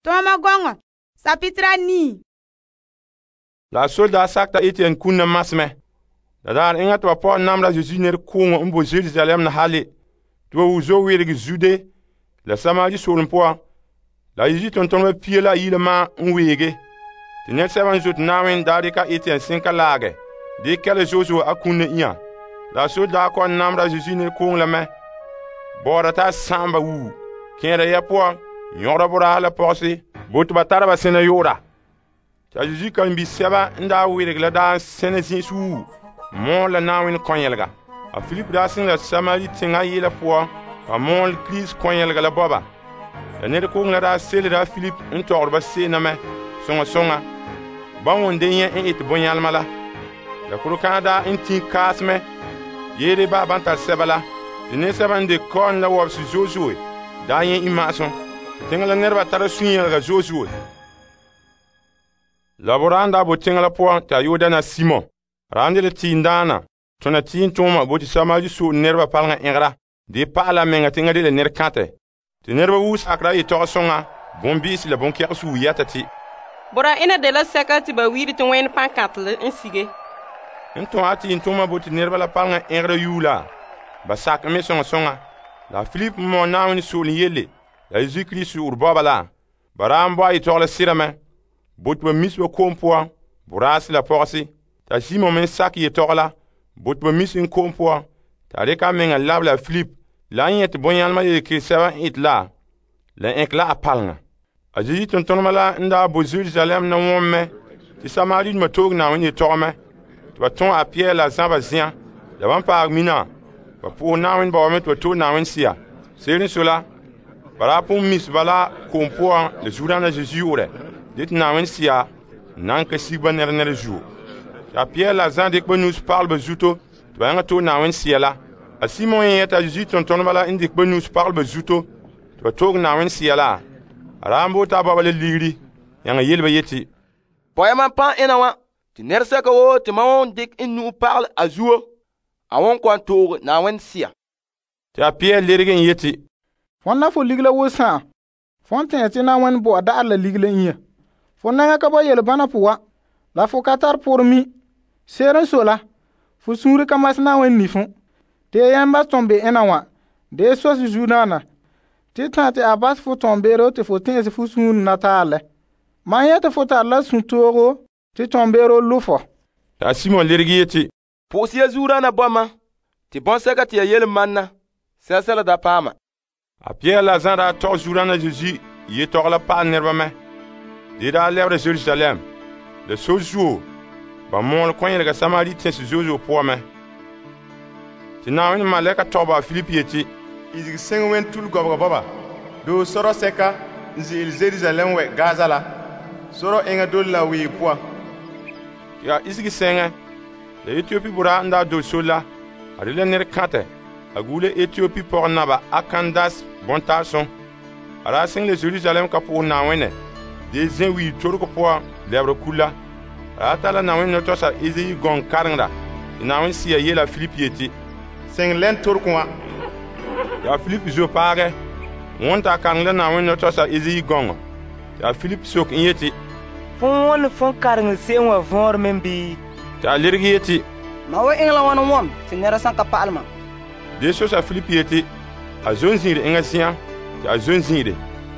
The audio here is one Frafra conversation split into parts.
Toma gongo, sapitra nii. La soldaa sakta Etienne kunna masmɛ. La daar enŋa te ba pɔgɔ namra Yesu nɛra kooŋɔ n bo Jerusalem na hale. Te ba wu zo weerege Zude la Samari soolem poan. La Yesu tontoneba 2 maa n weege. Te nɛresɛba n zote Na'ayenɛ daa deka Etienne senka laage. De kɛle zo'zo'o a kunna inya. La soldaa kɔ'ɔn namra Yesu nɛra kooŋɔ la mɛ. Bɔɔra ta sa'am ba wu. Kɛɛra ya poan, nyɔgera boraa la pɔgɔse, bo te ba tara ba sena yoora. Ta Yesu kan bi sɛba n daa weerege la daa sɛna zin'su wu. Mɔɔl la Na'ayenɛ kɔnyɛlega. A Filip daa siŋ la Samari teŋa yela poan, ba mɔɔl Kirist kɔnyɛlega la bɔba. La nɛra kooŋɔ la daa selera Filip n tɔgɔre ba se'ena mɛ, soŋa soŋa. Ban won de nyɛ n ete bonyalema la. La korokana daa n tin kaasemɛ, yeere ba ban tar sɛba la. Te nɛresɛba n de kɔɔn la wɔbese zo'zo'e daa nyɛ imma'asum. Teŋa la nɛreba tara sunyɛlega zo'zo'e. La boraa n daa bo teŋa la poan te a yoo dana Simon. Raan de la tiindaana, tona tiintooma bo te Samari so'e nɛreba paleŋa ɛngera. De pa'ala meŋa teŋa de la nɛrekãtɛ. Te nɛreba wu sakera yetɔgɔ soŋa, bonbi'isi la bonkɛgɛsuu yɛta te. Bora ina de la sɛka te ba wiiri te wɛn pankãtele n sige. N tõo a tiintooma bo te nɛreba la paleŋa ɛngera yuu la, ba sakɛ me soŋa soŋa. La Filip mɔ Na'ayenɛ soolem yelle, la Yesu Kirist su'urɛ bɔba la. Ba raan bo a yetɔgɔ la sira bo te ba mis ba ko'om poan, boraase la pɔgɔse. Ta Simon me sakɛ yetɔgɔ la, bo te ba mis n ko'om poan. Ta reka a meŋa lab la Filip, la n nyɛ te bonyalema yelekere sɛba n ete la ɛnkɛ la a paleŋa. A Yesu tontonema la n daa bo Jerusalem na wɔm mɛ, te Samaridoma toog Na'ayenɛ yetɔgɔ mɛ. Te ba tõo a Pierre la Zã ba zen'an. La ban paag mina, ba po'ohe Na'ayenɛ ba wa me te ba to'e Na'ayenɛ Sea. Se'ere n so la, ba daa pon mis ba la ko'om poan la zuodaana Zesu yo'orɛ. De te Na'ayenɛ Sea nan ka sig ba nɛra zuo. Ta Pierre la Zã dek ba nuus pagel ba zuto, te ba yaŋa to'e Na'ayenɛ Sea la. A Simon yɛta Yesu tontoneba la n dek ba nuus pagel ba zuto, te ba toog Na'ayenɛ Sea la. A raan bo ta baba la ligiri, yaŋa yele ba yeti. Pɔya man pãn ena wã, te nɛresɛka woo te ma won dek n nu'u pagel a zuo, a won kɔn toog Na'ayenɛ Sea. Te a Pierre lerege n yeti. Fon na fo ligila wo sãn. Fon tẽ te Na'ayenɛ bo a da'ar la ligila n yɛ. Fo nɛŋa ka ba yelebana poa, la fo ka tar poorɛ mi. Se'ere n so la, fo suunre ka mas Na'ayenɛ nifo. Te yɛn ba tõn be ena wã, de sos zuodaana. Te tã te a bas fo tõn beero te fo tẽese fo suunre na taalɛ. Man yɛte fo tar la sũ-toogo te tõn beero lo fo. Ta Simon lerege yeti. Pʋʋs ya zuodaana bɔma, te bõn-sɛka te ya yele manna, sɛla da paama. A Pierre la Zã daa tɔg zuodaana Zesu yetɔgɔ la pa'al nɛreba mɛ. De daa lɛbera Jerusalem. La so zuo, ba mɔɔl kɔnyɛlega Samari tẽse zo'zo'o poan mɛ. Te Na'ayenɛ malɛka tɔgba a Filip yeti. Izigi seŋ wen tul gɔbega bɔba. Doo sɔrɔ sɛka n ze'ele Jerusalem wɛ Gaza la. Sɔrɔ eŋa dole la wee poan. Ya isigi sɛŋɛ, la Etiopi boraa n daa dole sore la, a de la nɛrekãtɛ. A gule Etiopi pɔgɔ naba a Kandas bɔntaasum. A daa siŋ la Jerusalem ka pʋgɛ Na'ayenɛ. De zẽ wii torego poan lɛbera kula. A daa tara Na'ayenɛ nɔtɔsa Ezayi gɔŋ kareŋda. Te Na'ayenɛ Sea yeela Filip yeti. Seŋ lɛn torego wã. Ya Filip zo paagɛ, wõn ta kareŋ la Na'ayenɛ nɔtɔsa Ezayi gɔŋɔ. Ya Filip sok n yeti. Fon won fon kareŋ se'em wa võor men bii? Ta lerege yeti. Ma wo eŋla wãn wõm te nɛra sãn ka pa'al ma. De sosa Filip yeti. A zon zĩire eŋa zĩã, tɩ a zon zĩire.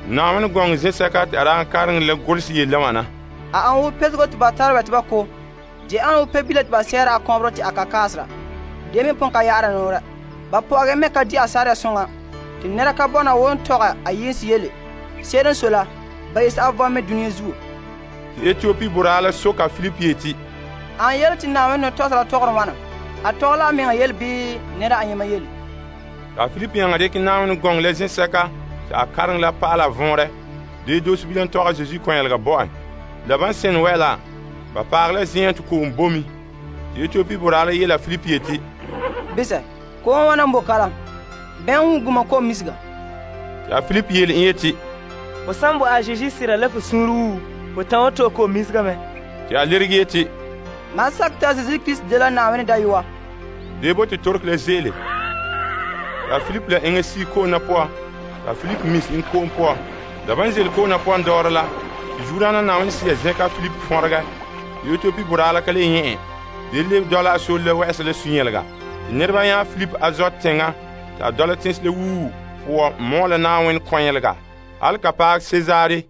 Na'ayenɛ gɔŋ zẽ-sɛka tɩ a daa kareŋ la golsi yella wãna. A an wo pesgo tɩ ba tar ba tɩ ba ko. De an wo pe bila tɩ ba sɛɛra a kɔbɔrɔ tɩ a ka kaasera. De me pon ka yaara noora. Ba pɔgɛ me ka di a sarɛ sõŋa. Tɩ nɛra ka bɔna won tɔga a yɩɩns yele. Se'ere n so la, ba yese a vɔm me dũniyã zuo. Tɩ Etiopi boraa la soka Filip yeti. An yele tɩ Na'ayenɛ tɔsra tɔgr wãna. A tɔg la a meŋa yele bii nɛra a yẽma yele. A Filip yãnga dɩk Na'ayenɛ gɔŋ la zẽ-sɛka tɩ a kareŋ la pa'ala võorɛ. De dos-bilam tɔga Zesu kɔnyɛlega bɔ'en. La ban sẽn wɛ la, ba paag la zẽ tɩ ko'om bomi. Tɩ Etiopi boraa la yeela Filip yeti. Bisɛ, ko'om wãna n bo kalam. Bɛn wu guma ko'om misga. Tɩ a Filip yeel n yeti. Fo san bo a Zesu sira la fo sũur wu, fo tã wa to ko'om misga me. Tɩ a lerge yeti. Man sak t'a Zesu Kirist de la Na'ayenɛ dayɔa. De bo tɩ tork la zeele. Tɩ a Filip la eŋa sii ko'om na poan. T'a Filip mis n ko'om poan. Da ban zel ko'na pɔn dɔɔrɔ la, Zuodaana Na'ayenɛ Sea zɛnka Filip fɔnregɛ, Etiopia boraa la ka le nyɛ en. De lebe dɔla a sore la wɛ'ɛsa la sunyɛlega. Te nɛreba nya Filip Azot teŋa te a dɔla teŋse la wuu poɔ mɔɔla Na'ayenɛ kɔnyelega. Al ka paɛ Cesare